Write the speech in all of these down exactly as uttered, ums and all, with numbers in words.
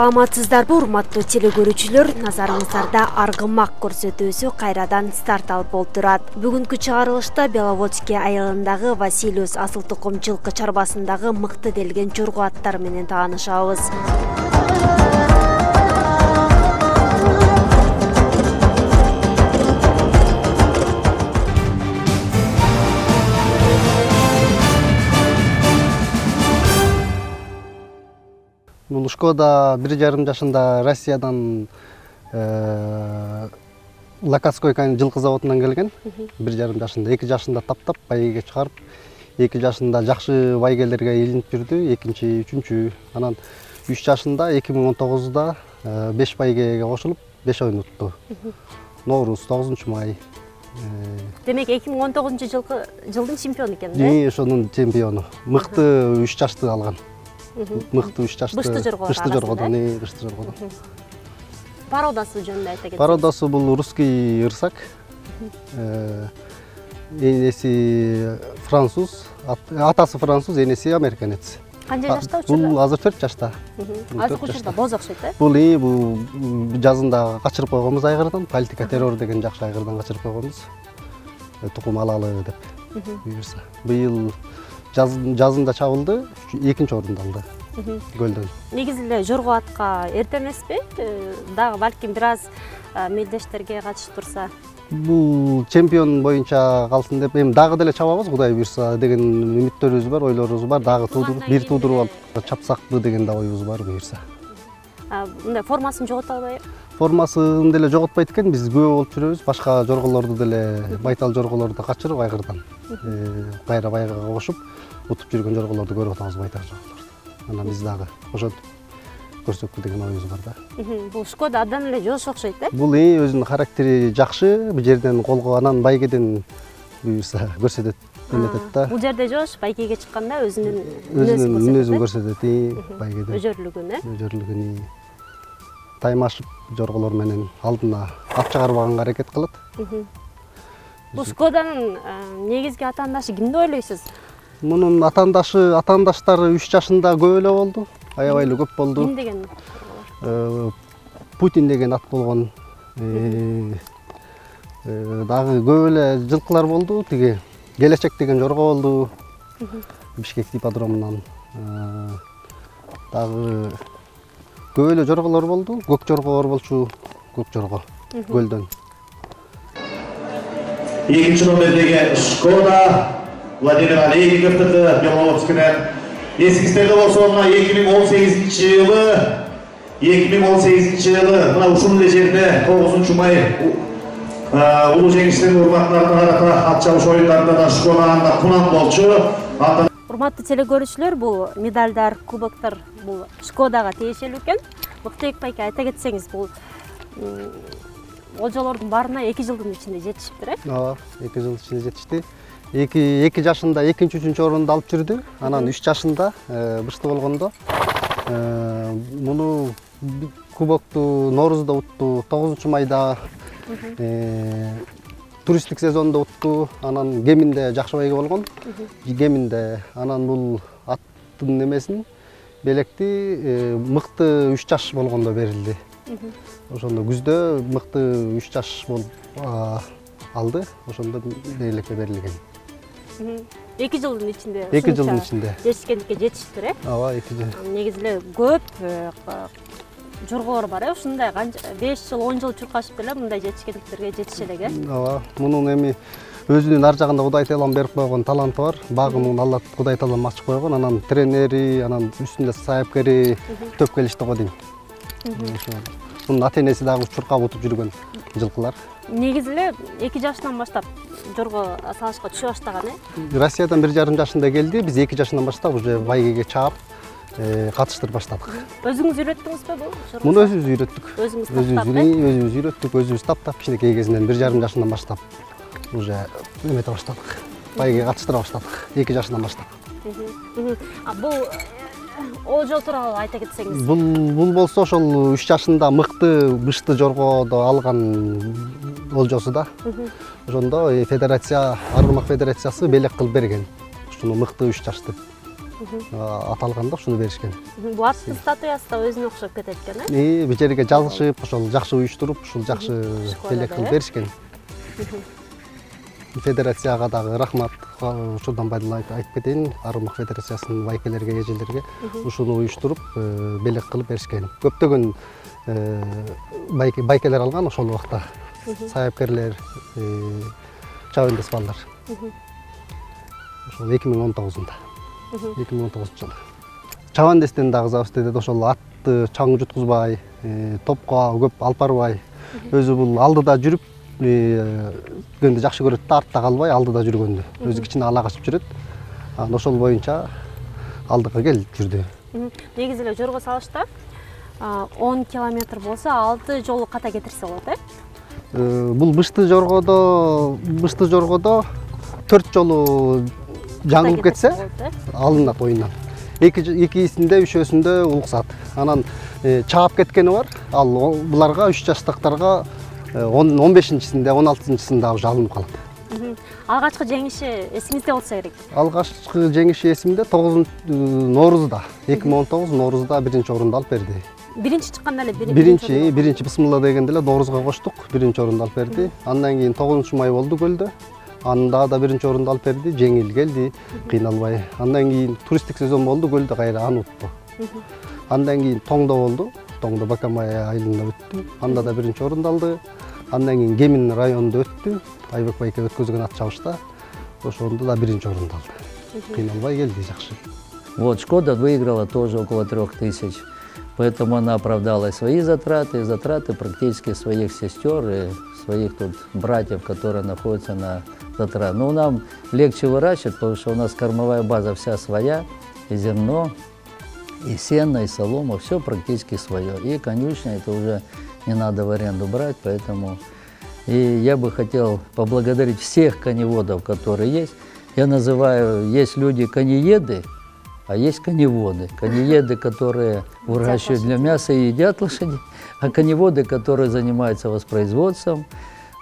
Саламатсыздарбы, урматтуу теле көрүүчүлөр, назарыңыздарда аргымак көрсөтүүсү кайрадан старт алып болтурат. Бүгүнкү чыгарылышта Беловодский айылындагы Василиус асыл тукум жылкы чарбасындагы мыкты делген жорго аттар менен таанышабыз. Бул Шкода бир жарым жашында Россиядан Лакатской жылкы заводунан келген. бир жарым жашында, эки жашында таптап байгеге чыгарып, эки жашында жакшы байгелерге илинип жүрдү, экинчи, үчүнчү. Анан үч жашында эки миң он тогузда беш байгеге кошулуп, беш оюн утту. Ноорус, тогузунчу май. Демек эки миң он тогузунчу жылкы жылдын чемпиону экен, да? Жи, ошонун чемпиону. Мыкты үч жашты алган. Мыкты үч жашты. Бышты жорго. Бышты жоргодон, э, бышты жоргодон. Породасы жөнүндө айта кетсеңиз. Породасы бул русский ырсак. Энеси француз, атасы француз, энеси американец. Канча жашта учурда? Бул азыр төрт жашта. Азыр учурда боз окшойт, э? Бул и бул жазында качырып койгонбуз айгырдан, политика террор деген жакшы айгырдан качырып койгонбуз. Тукум алалы деп. Буюрса. Быйыл жазында чабылды, экинчи орунду алды. Көлдөн. Негизи эле жорго атка эрте эмеспи? Дагы балким бир аз мелдештерге катышып турса. Бул чемпион боюнча калсын деп, эми дагы деле чабабыз, Кудай буйрса деген үмүттөрүбүз бар, ойлорубуз бар. Дагы туудуруп, бир туудуруп алып чапсакпы деген да оюбуз бар буйрса. Мындай формасын жогото албайбы? Формасын деле жоготпойт экен, биз күбө болуп жүрөбүз. Башка жорголорду деле, байтал жорголорду качырып айгырдан кайра байгага кошуп, утуп жүргөн жорголорду көрүп атабыз, байтал жорголорду. Анан биз дагы ошентип көрсөкпү деген оюбуз бар да. Бул Шкода абдан эле жош окшойт, э? Бул и өзүнүн характери жакшы, бул жерден колго анан байгеден буюрса көрсөтөт, эметет да. Бул жерде жош, байгеге чыкканда өзүнүн өзүнүн мүнөзүн көрсөтөт, и байгеден. Өжөрлүгүн, э? Өжөрлүгүн. Таймашып жорголор менен алдына ат чыгарбаганга аракет кылат. Бул Шкоданын негизги атаандашы ким деп ойлойсуз? Мунун атаандашы, атаандаштары үч жашында көп эле болду. Аябай эле көп болду. Ким деген? Путин деген ат болгон. Дагы көп эле жылкылар болду. Тиги Келечек деген жорго болду. Бишкек ипподромунан. Дагы көп эле жорголор болду. Көк жорго бар болчу, көк жорго көлдөн. Экинчи номердеги Шкода Владимир Олейниковдуку Беловодскийден. Эсиңизде болсо, мына эки миң он сегизинчи жылы, эки миң он сегизинчи жылы мына ушул эле жерде тогузунчу май улуу жеңиштин урматтарына карата ат чабыш оюндарында да Шкода кунам болчу. Урматтуу теле көрүүчүлөр, бул медалдар, кубоктор бул Шкодага тиешелүү экен. Мыктыбек байке, айта кетсеңиз, бул олжолордун баарына эки жылдын ичинде жетишиптир, э? Ооба, эки жыл ичинде жетишти. эки жашында экинчи, үчүнчү орунду алып жүрдү. Анан үч жашында бышты болгондо муну кубокту Ноорузда утту, тогузунчу майда туристтик сезондо утту. Анан Кеминде жакшы байге болгон. Кеминде анан бул аттын немесин белекти мыкты үч жаш болгондо берилди. Ошондо күздө мыкты үч жаш болуп алды. Ошондо белекке берилген. эки жылдын ичинде. эки жылдын ичинде. Жетишкендикке жетиштир, э? Ооба, эки жыл. Негизи эле көп жорголор бар, э? Ушундай беш жыл, он жыл чуркашып деле мындай жетишкендиктерге жетише элек, э? Ооба, мунун эми өзүнүн ар жагында Кудай Таалам берип койгон таланты бар. Багымын Алла Кудай Таалам ачып койгон. Анан тренери, анан үстүндө саяпкери төп келишти го дейм. Мунун ата-энеси дагы чуркап утуп жүргөн жылкылар. Негизи эле эки жаштан баштап жорго салышка түшө баштаган, э? Россиядан бир жарым жашында келди. Биз эки жашынан баштап уже байгеге чаап катыштырып баштадык. Өзүңүз үйрөттүңүзбү бул? Муну өзүбүз үйрөттүк. Өзүңүз таптап, өзүбүз үйрөттүк, өзүбүз таптап, кичинекей кезинен бир жарым жашынан баштап уже эмете баштадык. Байгеге катыштыра баштадык эки жашынан баштап. А бул олжол тууралуу айта кетсеңиз. Бул бул болсо ошол үч жашында мыкты бышты жоргодо алган олжосу да. Ошондо федерация, Аргымак федерациясы белек кылып берген. Ушуну мыкты үч жашты. аталганда ушуну беришкен. Бул аттын статуясы да өзүнө окшоп кетет экен, э? Бул жерге жазышып, ошол жакшы уюштуруп, ушул жакшы белек кылып беришкен. Федерацияга дагы рахмат. Ушундан пайдаланып айтып кетейин, Аргымак федерациясынын байкелерге, эжелерге ушуну уюштуруп, белек кылып беришкен. Көптөгөн байкелер алган ошол убакта. Саяпкерлер, чабандес балдар. Ошол эки миң он тогузунда. эки миң он тогузунчу жылы. Чабандестен дагы забыз ошол атты чаң жуткузбай, топко көп алып барбай, өзү бул алдыда жүрүп, жүргөндү жакшы көрөт да, артта калбай алдыда жүргөндү. Өзү кичине ала качып жүрөт. Анан ошол боюнча алдыга келип жүрдү. Негизи эле жорго салышта он километр болсо алты жолу ката кетирсе болот, э? Бул бышты жоргодо, бышты жоргодо төрт жолу жаңылып кетсе, алынат оюндан. Экисинде, үчөөсүндө уруксат. Анан чаап кеткени бар. Ал буларга үч жаштыктарга он бешинчисинде, он алтынчысында уже алынып калат. Алгачкы жеңиши эсиңизде болсо керек. Алгачкы жеңиши эсимде тогузунчу Ноорузда, эки миң он тогуз Ноорузда биринчи орунду алып берди. Биринчи чыкканда эле биринчи, биринчи бисмилла дегенде эле Ноорузга коштук, биринчи орунду алып берди. Андан кийин тогузунчу май болду көлдө. Анда да биринчи орунду алып берди, жеңил келди, кыйналбай. Андан кийин туристтик сезон болду, көлдө кайра аны утtu. Андан кийин Тоңдо болду. Тоңдо Бакамай айылында өттү. Анда да биринчи орунду алды. Андан кийин Кемин районунда өттү. Айбек байке өткөзгөн ат чабышта. Ошондо да биринчи орунду алды. Кыйналбай келди, жакшы. Вот Шкода выиграла тоже около трех тысяч. Поэтому она оправдала свои затраты, затраты практически своих сестер и своих тут братьев, которые находятся на затрат. Но нам легче выращивать, потому что у нас кормовая база вся своя, и зерно, и сено, и солома, все практически свое. И конюшня, это уже не надо в аренду брать, поэтому... И я бы хотел поблагодарить всех коневодов, которые есть. Я называю, есть люди конееды, а есть коневоды. Конееды, которые выращивают для мяса и едят лошадей, а коневоды, которые занимаются воспроизводством.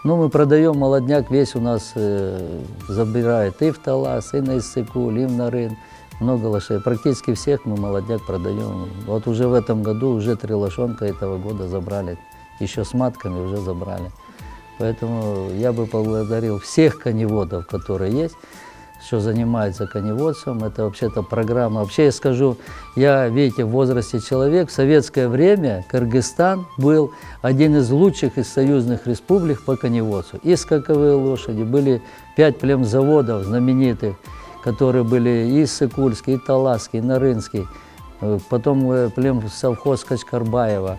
Ну, мы продаем молодняк, весь у нас э, забирает и в Талас, и на Иссыкуль, и в Нарын. Много лошадей. Практически всех мы молодняк продаем. Вот уже в этом году уже три лошонка этого года забрали. Еще с матками уже забрали. Поэтому я бы поблагодарил всех коневодов, которые есть, что занимается коневодством. Это вообще-то программа. Вообще я скажу, я, видите, в возрасте человек, в советское время Кыргызстан был один из лучших из союзных республик по коневодству. И скаковые лошади, были пять племзаводов знаменитых, которые были и Иссыкульский, и Таласский, и Нарынский, потом племсовхоз Качкарбаева.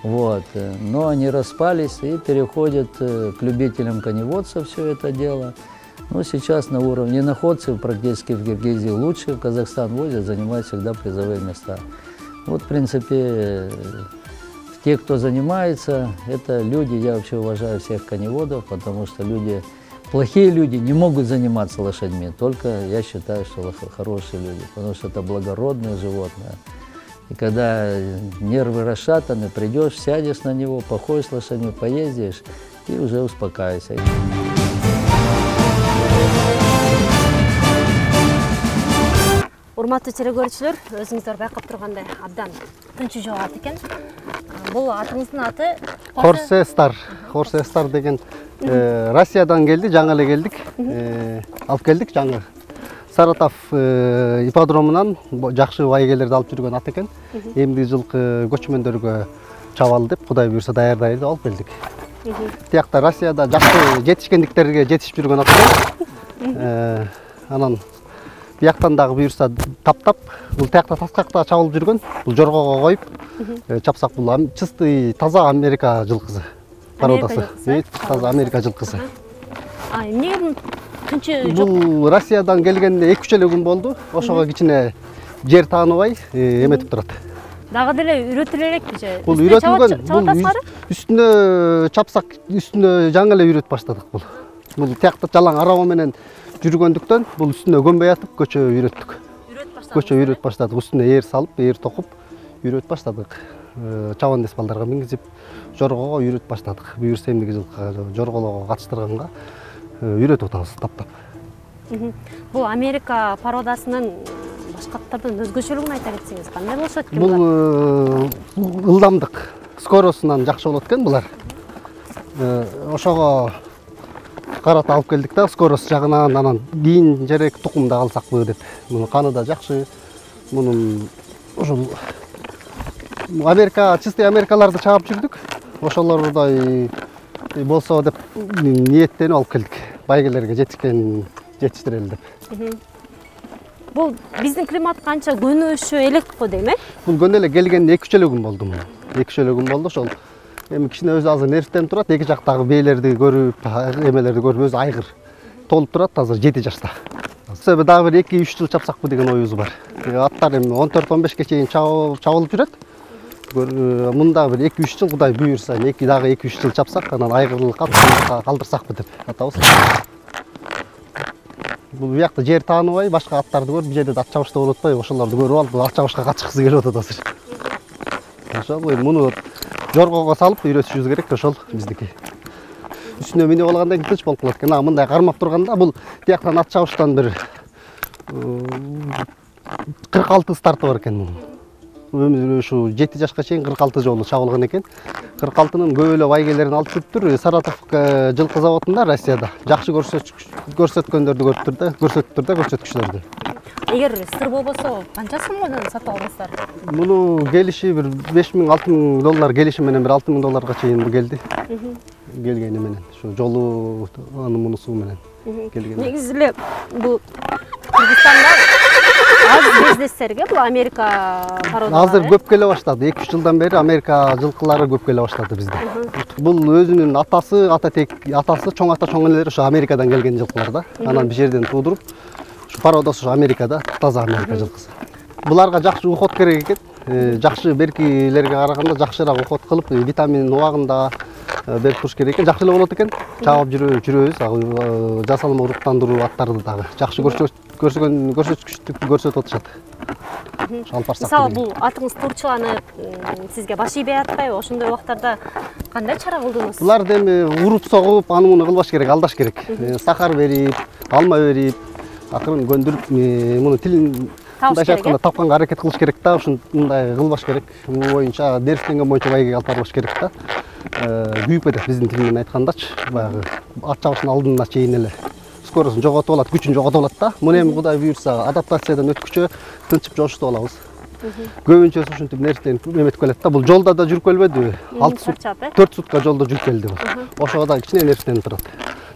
Вот. Но они распались и переходят к любителям коневодства все это дело. Ну, сейчас на уровне находцев практически в Киргизии лучше, в Казахстан возят, занимают всегда призовые места. Вот, в принципе, те, кто занимается, это люди, я вообще уважаю всех коневодов, потому что люди, плохие люди не могут заниматься лошадьми, только я считаю, что хорошие люди, потому что это благородное животное. И когда нервы расшатаны, придешь, сядешь на него, походишь с лошадьми, поездишь и уже успокаиваешься. Урматтуу телекөрүүчүлөр, өзүңүздөр байкап тургандай абдан тынчу жол ат экен. Бул атыңыздын аты Хорсе Стар. Хорсе Стар деген Россиядан келди, жаңы эле келдик. Алып келдик жаңы. Саратов ипподромунан жакшы байгелерди алып жүргөн ат экен. Эмдиги жылкы көчмөндөргө чабалы деп, Кудай буйрса даярдайлы деп алып келдик. Тиякта Россияда жакшы жетишкендиктерге жетишип жүргөн ат экен. Анан бияктан дагы буйрса таптап, бул тиякта таскакта чабылып жүргөн, бул жоргого коюп чапсак, бул чистый таза Америка жылкысы. Породасы. Таза Америка жылкысы. А эмне тынчы жок? Бул Россиядан келгенде эки үч эле күн болду. Ошого кичине жер тааныбай эметип турат. Дагы деле үйрөтүлө элекпи же? Бул үйрөтүлгөн, бул үстүнө чапсак, үстүнө жаңы эле үйрөтүп баштадык бул. Бул тиякта жалаң араба менен жүргөндүктөн бул үстүнө көнбөй атып көчө үйрөттүк. Көчө үйрөтүп баштадык. Үстүнө ээр салып, ээр токуп үйрөтүп баштадык. Чабандес балдарга мингизип, жоргого үйрөтүп баштадык. Буйрса эмдиги жылкы жорголорго катыштырганга үйрөтүп атабыз таптап. Бул Америка породасынын башка аттардан өзгөчөлүгүн айта кетсеңиз кандай болушат экен? Бул ылдамдык, скоросунан жакшы болот экен булар. Ошого карата алып келдик да, скорость жагынан, анан кийин жерек тукумда калсакпы деп. Мунун каны да жакшы. Мунун ошол Америка, чистый Америкаларды чаап жүрдүк. Ошолордой болсо деп ниеттенип алып келдик. Байгелерге жетишкен жетиштирели деп. Бул биздин климатка анча көнүшү элек го дейм, э? Бул көнө эле келгенде эки үч эле күн болду. эки үч эле күн болду. Ошол эми кичине өзү азыр нервтенип турат. Эки жактагы бээлерди көрүп, эмелерди көрүп өзү айгыр толуп турат. Азыр жети жашта. Себеби дагы бир эки үч жыл чапсакпы деген оюбуз бар. Аттар эми он төрт он бешке чейин чабылып жүрөт. Мында бир эки үч жыл Кудай буйрса, эки дагы эки үч жыл чапсак, анан айгырлыкка калтырсакпы деп атабыз. Бул биякта жер тааныбай, башка аттарды көрүп, бул жерде ат чабышта болуп атпайбы, ошолорду көрүп алып, ат чабышка качкысы келип атат азыр. Ошол муну жоргого салып үйрөтүшүбүз керек, ошол биздики. Үстүнө минип алгандан кийин тынч болуп калат экен. А мындай кармап турганда бул тияктан ат чабыштан бир кырк алты старты бар экен мунун. Ушу жети жашка чейин кырк алты жолу чабылган экен. кырк алтынын көп эле байгелерин алып жүрүптүр. Саратов жылкы заводунда Россияда жакшы көрсөткөндөрдү көрүптүр да, көрсөттүр да көрсөткүчтөрдү. Эгер сыр болбосо канча сомдон сатып алдыңыздар? Муну келиши бир беш миң алты миң доллар келиши менен бир алты миң долларга чейин келди. Келгени менен, ушу жолу аны мунусу менен келген. Негизи эле бул Кыргызстанда аз бизнестерге бул Америка пародалары. Азыр көп келе баштады. эки үч жылдан бери Америка жылкылары көп келе баштады бизде. Бул өзүнүн атасы, ататек атасы, чоң ата чоң энелери ошо Америкадан келген жылкылар да. Анан бир жерден туудуруп, ушу пародасы ушу Америкада, таза Америка жылкысы. Буларга жакшы уход керек экен. Жакшы беркилерге караганда жакшыраак уход кылып, витамин убагында берип туруш керек экен. Жакшы эле болот экен. Чабып жүрөбүз, жасалма уруктандыруу аттарды дагы жакшы көрсөткөн көрсөткүчтүктү көрсөтүп атышат. Алып барсак. Мисалы бул атыңыз турчуланып, сизге баш ийбей атпайбы? Ошондой убактарда кандай чара кылдыңыз? Буларды эми уруп согуп, аны муну кылбаш керек, алдаш керек. Сахар берип, алма берип, акырын көндүрүп, муну тилин мындай айтканда тапканга аракет кылыш керек да, ушундай кылбаш керек. Бул боюнча нервтенген боюнча байгеге алып барбаш керек да. Күйүп кетет биздин тил менен айткандачы, баягы ат чабышынын алдына чейин эле скоростун жоготуп алат, күчүн жоготуп алат да. Муну эми Кудай буйрса адаптациядан өткүчө тынчып жошутуп алабыз. Көбүнчөсү ушинтип нервтенип эметип келет да. Бул жолдо да жүрүп келбедиби? алты сутка, төрт сутка жолдо жүрүп келди бул. Ошого да кичине нервтенип турат.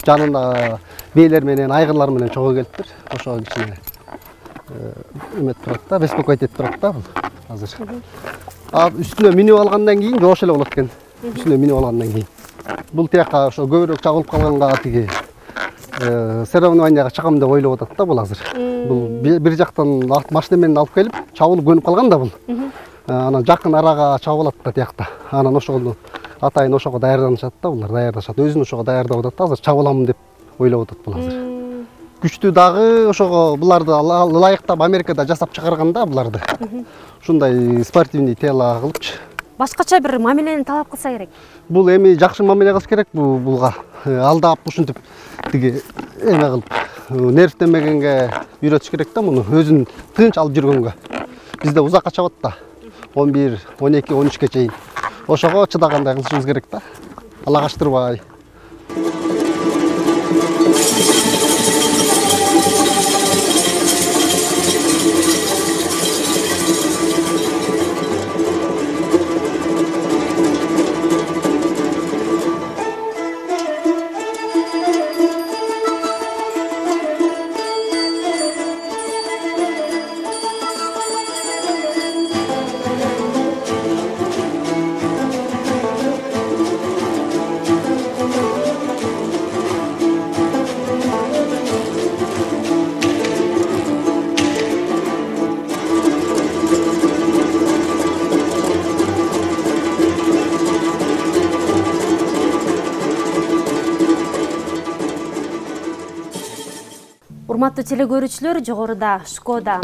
Жанында бээлер менен, айгырлар менен чогуу келиптир. Ошого кичине эметип турат да, беспокоить этип турат да бул азыр. А үстүнө минип алгандан кийин жоош эле болот экен. Үстүнө минип алгандан кийин. Бул тияка ошо көбүрөөк чагылып калганга тиги соревнованияга чыгам деп ойлоп атат да бул азыр. Бул бир жактан машина менен алып келип, чабылып көнүп калган да бул. Анан жакын арага чабып алат да тиякта. Анан ошону атайын ошого даярданышат да, булар даярдашат. Өзүн ошого даярдап атат да, азыр чабыламын деп ойлоп атат бул азыр. Күчтүү дагы ошого буларды ылайыктап Америкада жасап чыгарганда буларды. Ушундай спортивный тело кылыпчы. Башкача бир мамилени талап кылса керек. Бул эми жакшы мамиле кылыш керек бул булга. Алдап ушинтип тиги эме кылып, нервтенбегенге үйрөтүш керек да муну, өзүн тынч алып жүргөнгө. Бизде узакка чабат да. он бир, он эки, он үчкө чейин. Ошого чыдагандай кылышыбыз керек да. Алагаштырбай. Урматтуу телекөрүүчүлөр, жогоруда Шкода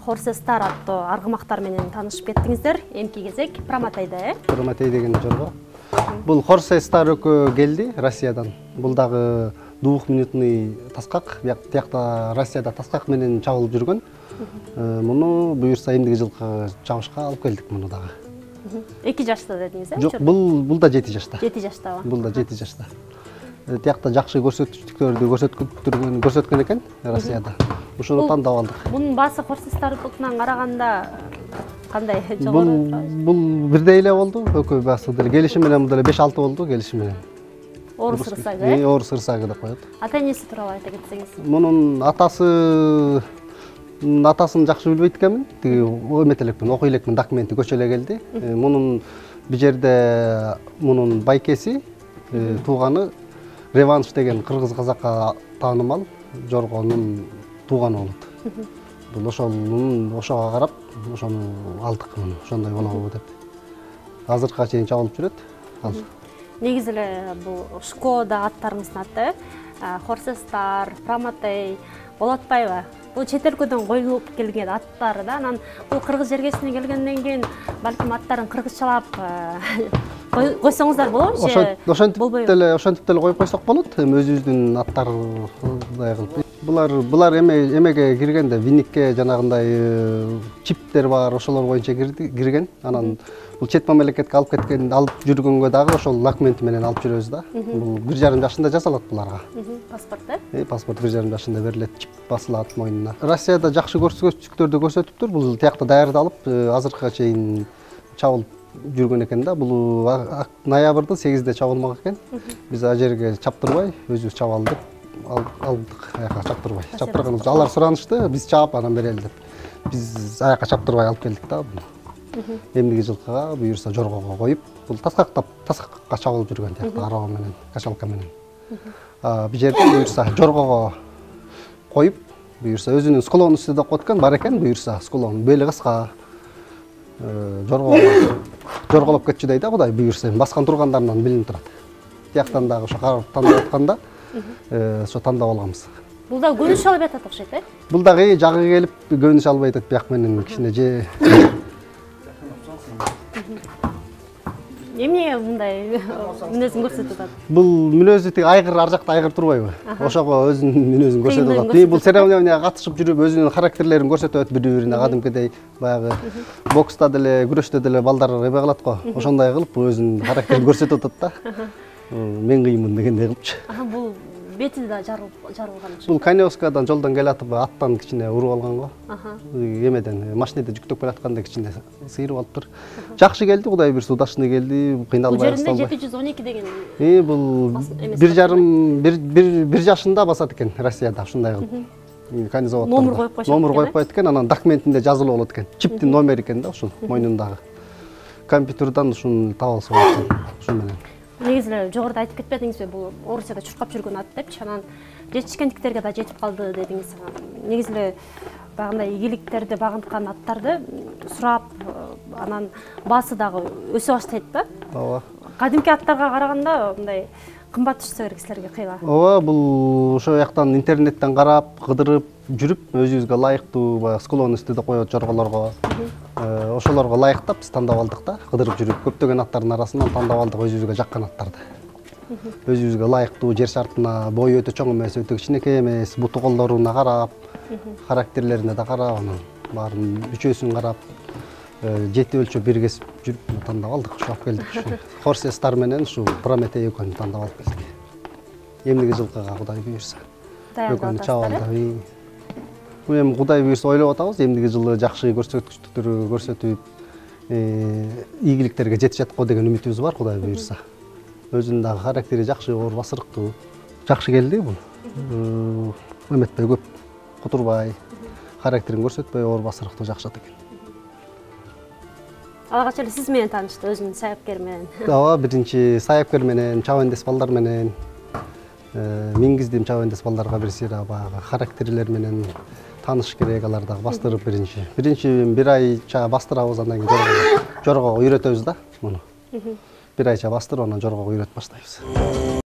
Horse Star аттуу аргымактар менен таанышып кеттиңиздер. Эмки кезек Прометейде, э? Прометей деген жорго. Бул Horse Star экөө келди Россиядан. Бул дагы двухминутный таскак, биякта Россияда таскак менен чабылып жүргөн. Муну буюрса эмдиги жылкы чабышка алып келдик муну дагы. эки жашта дедиңиз, э? Жок, бул бул да жети жашта. жети жаштабы? Бул да жети жашта. Тиякта жакшы көрсөтүктөрдү көрсөткөн көрсөткөн экен Россияда. Ушуну тандап алдык. Мунун баасы хорсестардыкынан караганда кандай жогору? Бул бирдей эле болду. Экөө баасы деле келишим менен бул деле беш алты болду келишим менен. Орус ырсагы, э? Орус ырсагы деп коет. Ата-энеси тууралуу айта кетсеңиз. Мунун атасы атасын жакшы билбейт экенмин. Тиги эметип элекмин, окуй элекмин, документи көчө эле келди. Мунун бул жерде мунун байкеси, тууганы Реванш деген кыргыз казакка таанымал жоргонун тууганы болот. Бул ошонун ошого карап, ошону алдык муну, ошондой болобу деп. Азыркыга чейин чабылып жүрөт. Ал. Негизи эле бул Шкода аттарыңыздын аты, Хорсестар, Прометей болуп атпайбы? Бул чет өлкөдөн коюлуп келген аттары да, анан бул кыргыз жергесине келгенден кийин балким аттарын кыргызчалап койсоңуздар болобу же? Ошентип деле, ошентип деле коюп койсок болот. Эми өзүбүздүн аттардай кылып. Булар булар эме эмеге киргенде, винникке жанагындай чиптер бар, ошолор боюнча кирген. Анан бул чет мамлекетке алып кеткен, алып жүргөнгө дагы ошол документи менен алып жүрөбүз да. Бул бир жарым жашында жасалат буларга. Паспорт, э? Э, паспорт бир жарым жашында берилет, чип басылат мойнуна. Россияда жакшы көрсөтүктөрдү көрсөтүптүр. Бул тиякта даярдалып, азыркыга чейин чабылып жүргөн экен да. Бул ноябрдын сегизинде чабылмак экен. Биз ал жерге чаптырбай, өзүбүз чабалы деп алдык, аяка чаптырбай. Чаптырганыбыз алар суранышты, биз чаап анан берели деп. Биз аяка чаптырбай алып келдик да. Эмдиги жылкыга буюрса жоргого коюп, бул таскактап, таскакка чабылып жүргөн тиякта араба менен, качалка менен. А бул жерде буюрса жоргого коюп, буюрса өзүнүн склонун үстүндө коет экен, бар экен буюрса склон, бели кыска. Жоргого жорголоп кетчү дейт да, Кудай буюрса, баскан тургандарынан билинип турат. Тияктан дагы ошо карап тандап атканда, ошо тандап алганбыз. Бул да көнүш албай атат окшойт, э? Бул дагы жагы келип көнүш албай атат, бияк менен кичине же. Эмне мындай мүнөзүн көрсөтүп атат? Бул мүнөзү тиги айгыр ар жакта айгыр турбайбы? Ошого өзүнүн мүнөзүн көрсөтүп атат. Бул церемонияга катышып жүрүп өзүнүн характерлерин көрсөтөт бири-бирине, кадимкидей баягы бокста деле, күрөштө деле балдар эме кылат го. Ошондой кылып өзүнүн характерин көрсөтүп атат да. Мен кыймын дегендей кылыпчу. Бул бети да жарылган. Бул Каневскадан жолдон келатып аттан кичине уруп алган го. Эмеден машинеде жүктөп келатканда кичине сыйрып алыптыр. Жакшы келди, Кудай буйрса удачный келди, кыйналбай бул жеринде жети жүз он эки деген. Э, бул бир жарым бир жашында басат экен Россияда ушундай кылып. Канизовод. Номер коюп койшот. Номер коюп коет экен, анан документинде жазылып болот экен. Чиптин номери экен да ушул мойнундагы. Компьютерден ушуну таап алса болот экен. Ушун менен. Негизи эле жогоруда айтып кетпедиңизби, бул Орусияда чуркап жүргөн ат депчи, анан жетишкендиктерге да жетип калды дедиңиз. Негизи эле баягындай ийгиликтерди багынткан аттарды сурап, анан баасы дагы өсө баштайт да. Ооба. Кадимки аттарга караганда мындай кымбат түшсө керек силерге кыйла. Ооба, бул ошо жактан интернеттен карап, кыдырып жүрүп, өзүбүзгө ылайыктуу баягы склон үстүндө коет жорголорго. Ошолорго ылайыктап биз тандап алдык да, кыдырып жүрүп, көптөгөн аттардын арасынан тандап алдык өзүбүзгө жаккан аттарды. Өзүбүзгө ылайыктуу, жер шартына бою өтө чоң эмес, өтө кичинекей эмес, буту колдоруна карап, характерлерине да карап, анан баарын үчөөсүн карап, жети өлчөп бир кесип жүрүп тандап алдык, ошо алып келдик. Хорсестар менен ушу Прометей экөөнү тандап алып келдик. Эмдиги жылкыга Кудай буйрса. Экөөнү чабалды. Бул эми Кудай буйрса ойлоп атабыз, эмдиги жылы жакшы көрсөткүчтөрдү көрсөтүп, ийгиликтерге жетишет го деген үмүтүбүз бар, Кудай буйрса. Өзүнүн дагы характери жакшы, оор басырыктуу. Жакшы келди бул. Эметпей көп кутурбай, характерин көрсөтпөй, оор басырыктуу жакшы ат экен. Алгач эле сиз менен таанышты, өзүнүн саяпкер менен. Ооба, биринчи саяпкер менен, чабандес балдар менен, мингиздим чабандес балдарга бир сыйра баягы характерлер менен тааныш керек, алар дагы бастырып биринчи. Биринчи бир айча бастырабыз, андан кийин жоргого үйрөтөбүз да муну. Бир айча бастырып, анан жоргого үйрөтүп баштайбыз.